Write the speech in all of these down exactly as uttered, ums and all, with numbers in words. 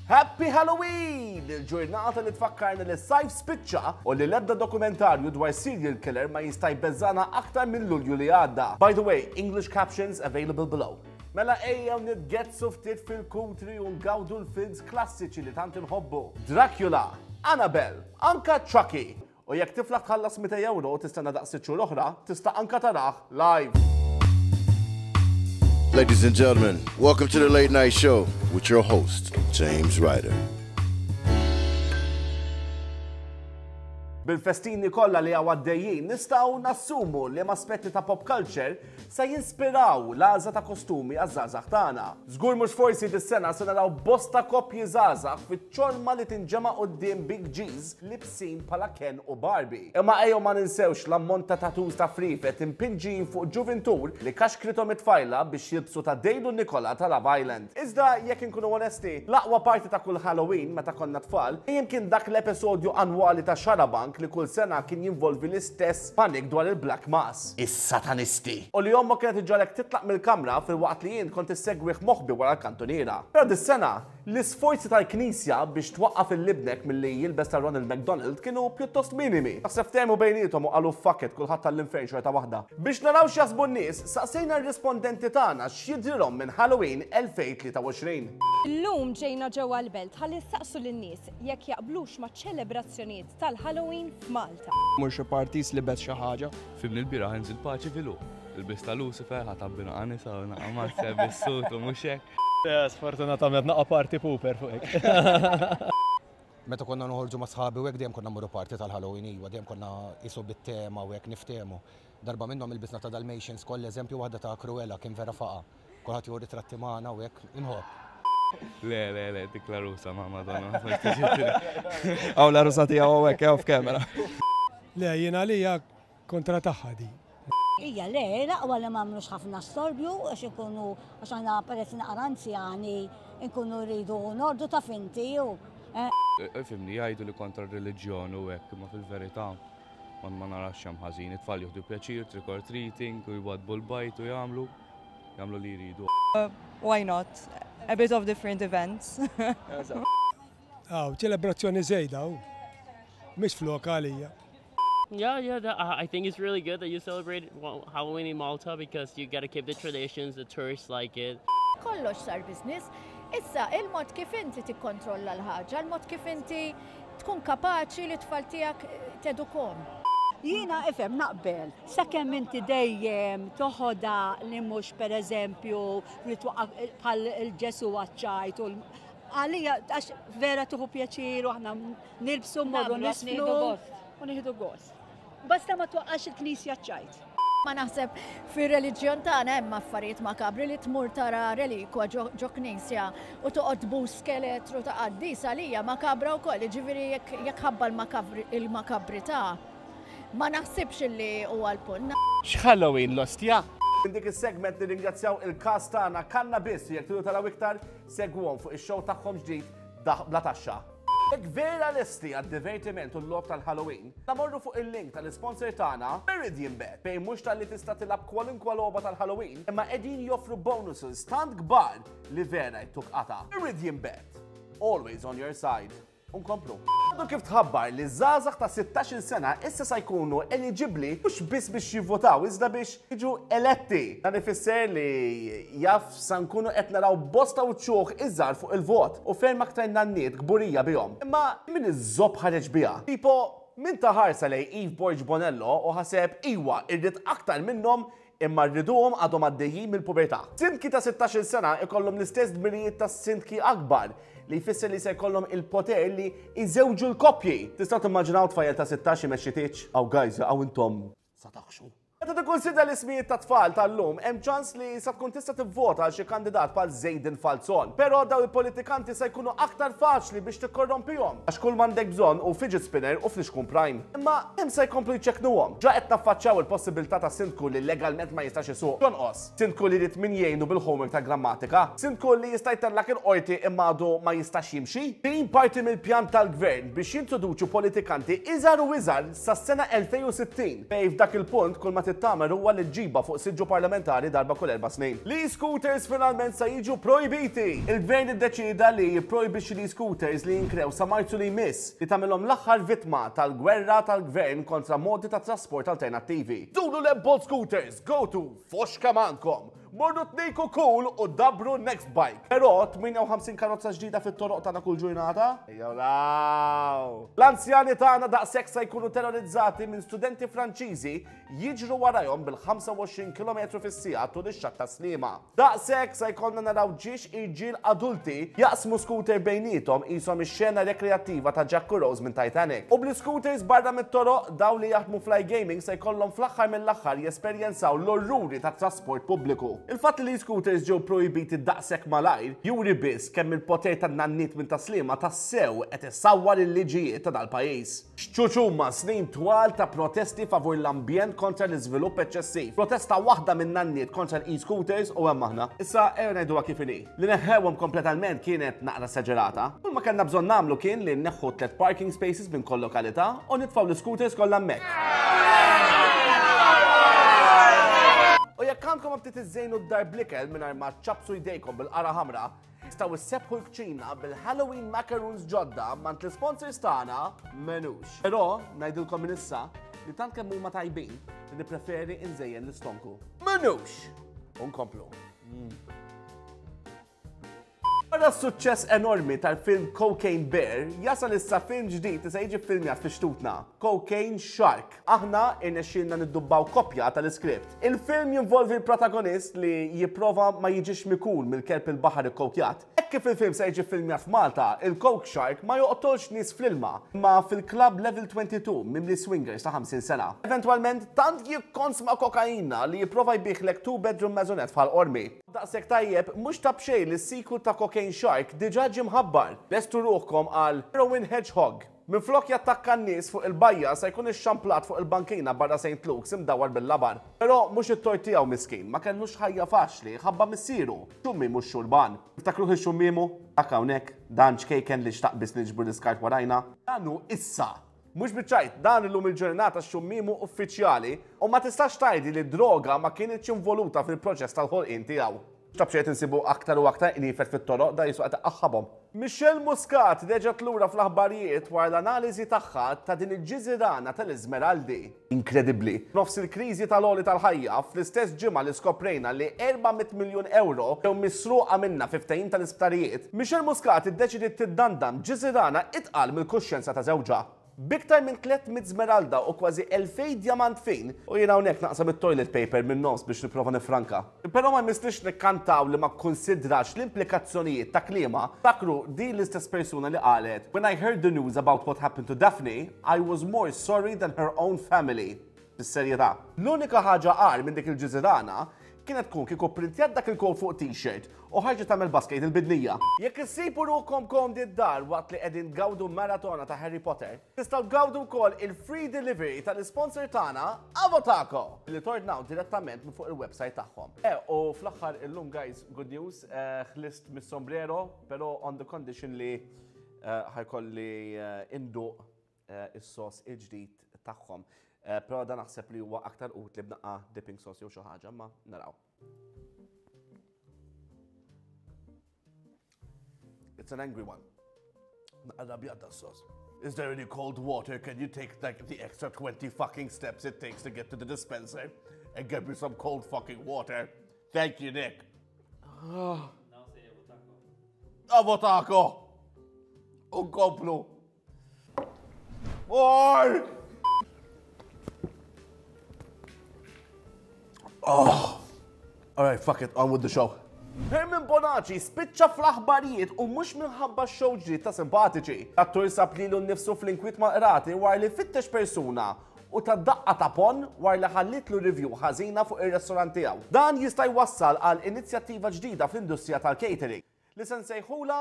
Happy Halloween! Il-ġurnata li tfakkarna li s-sajf spiċċa u li l-ebda dokumentarju dwar serial killer ma jista' jbeżżagħna aktar minn Lulju li għadda. By the way, English captions available below. Mela ejjew nitgetsu ftit fil-kutri u ngawdu l-films klassiċi li tant inħobbu. Dracula, Annabelle, anka Chucky. U jekk tiflaħ tħallas mitejn euro u tistenna daqs sitt xhur oħra, tista' anka tarah live. Ladies and gentlemen, welcome to the Late Night Show with your host, James Ryder. Bil-festini kollha li hawn għaddejjin, nistgħu nassumu li aspetti ta' pop culture se jinspiraw l-għażla ta' kostumi għaż-żgħażagħ tagħna. Żgur mhux forsi dis-sena se naraw bosta koppji żgħażagħ fiċ-ċorma li tinġema' quddiem Big G's libsin bħala Ken u Barbie. Imma ejjew ma ninsewx l-ammont ta' tattoos ta' frifet impinġin fuq ġuvintur li kaxkritom it-tfajla biex jilbsu ta' Dale u Nicola ta' Love Island. Iżda jekk inkunu onesti, l-aqwa parti ta' kull Halloween meta konna tfal, kien dak l-episodju annwali ta' Xarabank li kull sena kien jinvolvi l-istess panik dwar il-Black Mass. Is-satanisti. U li ommok kienet iġġagħlek titlaq mill-kamra filwaqt li jien kont issegwih moħbi wara l-kantuniera. Però dis-sena, l-isforzi tal-Knisja biex twaqqaf lil ibnek milli jilbes ta' Ronald McDonald kienu pjuttost minimi. Naħseb ftehmu bejniethom u qalu fuck it, kulħadd tal-infern xorta waħda. Biex naraw x'jaħsbu n-nies, saqsejna r-rispondenti tagħna x'jidrilhom minn Halloween elfejn u tlieta u għoxrin. Illum ġejna ġewwa l-Belt ħalli nsaqsu lin-nies jekk jaqblux ma' ċelebrazzjonijiet tal-Halloween f'Malta. Mur xi parties li bet xi ħaġa. Fimni l-bieraħ inżil paċi filu. Il-bista Lucifer ħatabbi naqa nisa u naqa mazzja bis-sut u mhux hekk. Sfortunatament naqa party pooper fuq hekk. Meta konna noħorġu ma' sħabi u hekk, dejjem konna mmorru party tal-Halloween, iwa, dejjem konna isu bit-tema u hekk niftehmu. Darba minnhom ilbisna ta' Dalmatians koll, eżempju waħda ta' Cruella, kien vera faqa. Kulħadd jieħu ritratti magħna u hekk, inħobb. Le, le, le, dik l-għarusa ma' Madonna. Hawn l-għarusa tiegħu hawnhekk hawn f'kamera. Le, jiena għalija kontra tagħha di. Ija, le, l-aqwa li m'għamlux ħafna storbju, għax ikunu, għax aħna peress naqra anzjani, nkunu rridu nordu ta' finti u. Fimni, jgħidu li kontra r-reliġjon u hekk, imma fil-verità ma ma narax hemm ħażin. It-tfal jieħdu pjaċir, trick or treating, u jwadbu l-bajt u jagħmlu jagħmlu li jridu. Why not? A bit of different events. Aw, ċelebrazzjoni żejda, u. Mhix flok għalija. Yeah, yeah, that, uh, I think it's really good that you celebrate, well, Halloween in Malta because you gotta keep the traditions, the tourists like it. Kollox sar business. Issa, il-mod kif inti tikkontrolla l-ħaġa, il-mod kif inti tkun kapaċi li tfal tiegħek tedukhom. Jiena ifhem naqbel, sakemm inti dejjem toħodha li mhux, pereżempju, li twaqqaf bħal il-Ġesu għaċ-ċajt u l- għalija, għax vera tieħu pjaċir u aħna nilbsu, mmorru Nagħmlu għax nisfnu nieħdu gost. U nieħdu gost. Basta ma twaqqax il-knisja ċajt. Ma naħseb fir-reliġjon tagħna hemm affarijiet makabri, li tmur tara relikwa ġo ġo knisja u toqgħod tbus skeletru ta' qaddis għalija makabra wkoll, jiġifieri jekk jekk ħabba l-makabri- il-makabrità. Ma naħsibx li huwa l-punt. X'Halloween, l-ostja? Minn dik is-segment nirringrazzjaw il-cast tagħna Kannabis. Jekk tridu taraw iktar, segwhom fuq ix-show tagħhom ġdid Daħk Bla Taxxa. Jekk vera lesti għad-divertiment u l-logħob tal-Halloween, morru fuq il-link tal-sponsor tagħna Meridian Bet, fejn mhux talli tista' tilgħab kwalunkwe logħba tal-Halloween, imma qegħdin joffru bonuses tant kbar li vera jtuk qata. Meridian Bet, always on your side. Unkomplu. Għadu kif tħabbar li żgħażagħ ta' sittax-il sena issa sa jkunu eligibli mhux biss biex jivvotaw, iżda biex jiġu eletti. Dan ifisser li jaf sa nkunu qed naraw bosta uċuħ iżgħar fuq il-vot u ferm aktar nanniet kburija bihom. Imma min iż-żobb ħareġ biha? Tipo, min ta ħarsa lejn Eve Borg Bonello u ħaseb, "Iwa, irrid aktar minnhom imma rriduhom għadhom għaddejjin mill-pubertà"? Sindki ta' sittax-il sena ikollhom l-istess dmirijiet ta' sindki akbar, li jfisser li se jkollhom il-poter li jżewġu l-koppji. Tistgħu timmaġinaw tfajjel ta' sittax imexxi tieġ? Aw guys, aw intom sa taħxu. Meta tikkunsidra l-ismijiet ta' tfal tal-lum, hemm ċans li sa tkun tista' tivvota għal xi kandidat bħal Zejden Falzon. Però daw il-politikanti se jkunu aktar faċli biex tikkorrompihom, għax kull m'għandek bżonn hu fidget spinner u flixkun Prime. Imma hemm se jkomplu jċekknuhom. Ġa qed naffaċċjaw il-possibilità ta' sindku li legalment ma jistax isuq. Jonqos. Sindku li jrid min jgħinu bil-homework ta' grammatika. Sindku li jista' jtellak il-qorti imma għadu ma jistax jimxi. Din parti mill-pjan tal-gvern biex jintroduċu politikanti iżgħar u iżgħar sas-sena elfejn u sittin. Fejn f'dak il-punt kull ma trid tagħmel huwa li ġġibha fuq siġġu parlamentari darba kull erba' snin. L-e-scooters finalment se jiġu projbiti. Il-gvern iddeċida li jipprojbixxi l-e-scooters li jinkrew sa Marzu li jmiss, li tagħmilhom l-aħħar vittma tal-gwerra tal-gvern kontra modi ta' trasport alternattivi. Dulu l-Bolt scooters, go to foxka mankom. Morru tniku cool u dabru next bike. Però tmienja u ħamsin karozza ġdida fit-toroq tagħna kull ġurnata? Ejjew law. L-anzjani tagħna daqshekk se jkunu terrorizzati minn studenti Franċiżi jiġru warajhom bil-ħamsa u għoxrin kilometru fis-siegħa tul ix-xatt ta' Sliema. Daqshekk se jkollna naraw ġiex irġiel adulti jaqsmu scooter bejniethom qishom ix-xena rekreattiva ta' Jack u Rose minn Titanic. U bl-scooters barra mit-toroq, daw li jaħdmu fl-iGaming se jkollhom fl-aħħar mill-aħħar jesperjenzaw l-orruri ta' trasport pubbliku. Il-fatt li scooters ġew projbiti daqshekk malajr juri biss kemm il-poter tan-nanniet minn Tas-Sliema tassew qed isawwar il-liġijiet ta' dal-pajjiż. X'ċuċuma snin twal ta' protesti favur l-ambjent kontra l-iżvilupp eċċessiv. Protesta waħda minn nanniet kontra l-e-scooters u hemm aħna. Issa ejja ngħiduha kif inhi. Li neħħewhom kompletament kienet naqra esaġerata. Kull ma kellna bżonn nagħmlu kien li nneħħu tliet parking spaces minn kull lokalità u nitfgħu l-scooters kollha hemmhekk. U jekk għandkom aptit iżżejnu d-dar bl-ikel mingħajr ma ċabsu jdejkom bil-qara ħamra, tistgħu issebħu l-kċina bil-Halloween macaroons ġodda mingħand l-sponsors tagħna Menux. Però ngħidilkom minn issa li tant kemm huma tajbin li nippreferi nżejjen l-istonku. Menux! Unkomplu. Wara s-suċċess enormi tal-film Cocaine Bear, jasal issa film ġdid li se jiġi filmjat fi xtutna, Cocaine Shark. Aħna irnexxielna niddubbaw kopja tal-iskript. Il-film jinvolvi l-protagonist li jipprova ma jiġix mikul mill-kelb il-baħar ikkokjat. Hekk kif il-film se jiġi filmjat f'Malta, il-Coke Shark ma joqtolx nies fl-ilma, ma fil-Club Level twenty-two mimli swingers ta' ħamsin sena. Eventwalment, tant jikkonsma kokaina li jipprova jbigħlek two bedroom maisonette f'Ħal Qormi. Daqshekk tajjeb, mhux ta' b'xejn li s-sequel ta' Cocaine Shark diġà ġie mħabbar. Lestu ruħkom għal Heroin Hedgehog. Minflok jattakka n-nies fuq il-bajja, se jkun ixxamplat fuq il-bankina barra Saint Luke's imdawar bil-labar. Però mhux it-tort tiegħu miskin, ma kellux ħajja faċli ħabba missieru. Xummi mhux xurban. Tiftakruh ix-xummimu? Dak hawnhekk, dan ċkejken li xtaq biss niġbru l-iskart warajna. Dan hu issa. Mhux biċ-ċajt, dan illum il-ġurnata xummimu uffiċjali u ma tistax tgħidi li droga ma kienx involuta fil-proċess tal-ħolqien tiegħu. Xtab xejn insibu aktar u aktar qniefed fit-toroq, da jisu qed aħħabhom. Michelle Muscat reġgħet lura fl-aħbarijiet wara l-analiżi tagħha ta' din il-ġiżirana tal-Iżmeraldi. Inkredibbli. Nofs il-kriżi tal-għoli tal-ħajja, fl-istess ġimgħa li skoprejna li erba' mitt miljun euro ġew misruqa minna fi ftehim tal-isptarijiet, Michelle Muscat iddeċidiet tiddandam ġiżirana itqal mill-kuxjenza ta' żewġha. B'iktar minn tliet mitt smeralda u kważi elfejn diamant fin, u jiena hawnhekk naqsam it-toilet paper minn nofs biex nipprova nifranka. Però ma jmissniex nikkantaw li ma konsidrax l-implikazzjonijiet ta' kliemha. Ftakru, din l-istess persuna li qalet: "When I heard the news about what happened to Daphne, I was more sorry than her own family." Bis-serjetà. L-unika ħaġa agħar minn dik il-ġiżirana kienet tkun kieku printjat dak il-kod fuq t-shirt u ħarġet tagħmel basket il-bidnija. Jekk issibu ruħkom komdi d-dar waqt li qegħdin gawdu maratona ta' Harry Potter, tistgħu gawdu wkoll il-free delivery tal-sponsor tagħna Avotaco li tordnaw direttament minn fuq il-website tagħhom. Eh, u fl-aħħar illum, guys, good news, eh, ħlist mis-sombrero, però on the condition li eh, ħa jkolli eh, induq is-sos il-ġdid tagħhom. Però dan naħseb li huwa aktar utli b'naqra dipping sauce jew xi ħaġa, ma naraw. It's an angry one. Naqra sauce. Is there any cold water? Can you take like the extra twenty fucking steps it takes to get to the dispenser and get me some cold fucking water? Thank you, Nick. Oh. Avotaco! Unkomplu. More! Oh. All right, fuck it, on with the show. Herman Bonaci spiċċa fl-aħbarijiet u mhux minħabba show ġdid ta' Simpatiċi. Attur sab lilu nnifsu fl-inkwiet mal-qrati wara li fittex persuna u ta daqqa ta' ponn wara li ħallitlu review ħażina fuq ir-restorant tiegħu. Dan jista' jwassal għal inizjattiva ġdida fl-industrija tal-catering li se nsejħula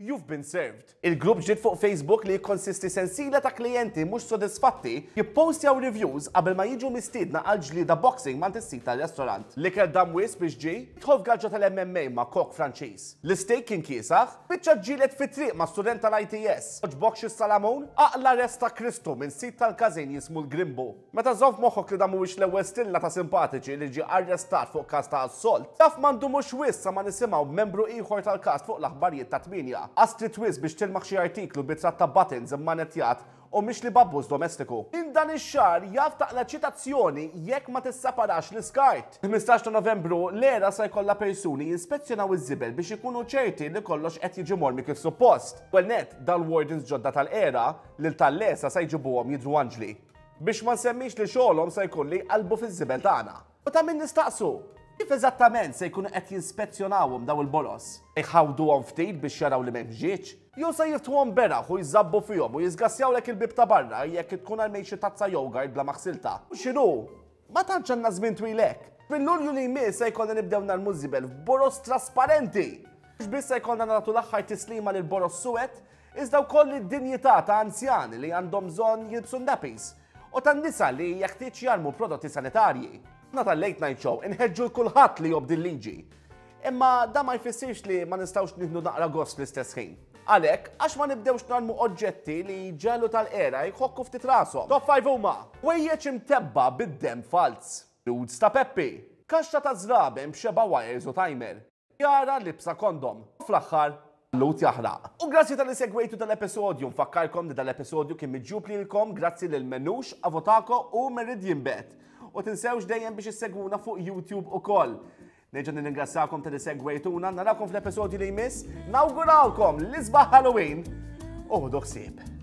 You've been served. Il-grupp ġdid fuq Facebook li jikkonsisti sensiela ta' klijenti mhux sodisfatti jippostjaw reviews qabel ma jiġu mistiedna għal ġlieda boxing ma' is-sid tal-restaurant. L-ikel dam wisq biex ġie, idħol f'gaġġa tal-M M A ma' kok Franċiż. L-steak kien kiesaħ, biċċa ġġieled fit-triq ma' student tal-I T S. Għoġbokx is-salamun, aqla' rest ta' Kristu minn sid tal-każin jismu l-Grimbu. Meta żomm f'moħħok li dan mhuwiex l-ewwel stilla ta' simpatiċi li ġie arrestat fuq każ ta' assolt, taf ma ndumux wisq sa ma nisimgħu membru ieħor tal-cast fuq l-aħbarijiet ta' tmienja. Astri wisq biex tilmaħ xi artiklu b'ritratt ta' buttons immanettjat u mhix li b'abbuż domestiku. In dan ix-xahar jaf taqla ċitazzjoni jekk ma tisseparax l-iskart. ħmistax ta' Novembru l-ERA sa jkollha persuni jispezzjonaw iż-żibel biex ikunu ċerti li kollox qed jiġi mormi kif suppost. Well net, dal-wardens ġodda tal-ERA lil tal-lesa sa jġibuhom jidru anġli. Biex ma nsemmix li xogħolhom sa jkun li qalbu fiż-żibel tagħna. U ta' min nistaqsu, kif eżattament se jkunu qed jispezzjonawhom daw il-boroż? Iħawduhom ftit biex jaraw li m'hemmx ġieġ? Jew se jiftħuhom beraħ u jżabbu fihom u jiżgassjawlek il-bib ta' barra jekk tkun għal xi tazza yogurt bla ma ħsiltha? U x'inhu? Ma tantx għandna żmien twilek. Fil-Lulju li jmiss se jkollna nibdew narmu żibel f'boroż trasparenti. Mhux biss se jkollna nagħtu l-aħħar tislima lil boroż suwed, iżda wkoll id-dinjità ta' anzjani li għandhom bżonn jilbsu nappies u tan-nisa li jeħtieġ jarmu prodotti sanitarji. Aħna tal-Late Night Show inħeġġu 'l kulħadd li jobdi l-liġi. Imma da ma jfissirx li ma nistgħux nieħdu naqra gost fl-istess ħin. Għalhekk, għax ma nibdewx narmu oġġetti li ġelu tal-ERA jħokku ftit rashom? Top five huma: ħwejjeġ imtebba' bid-dem falz, nudes ta' Peppi, kaxxa ta' żraben b'xeba wires u timer, Jara liebsa kondom. Fl-aħħar, lut jaħraq. U grazzi talli segwejtu dal-episodju, nfakkarkom li dal-episodju kien miġjub lilkom grazzi lil Menux, Avotako u Meridian Bet. U tinsewx dejjem biex issegwuna fuq YouTube ukoll. Nerġa' nirringrazzjakom talli segwejtuna, narakom fl-episodju li jmiss, nawgurawkom l-isbaħ Halloween u ħudu ħsieb.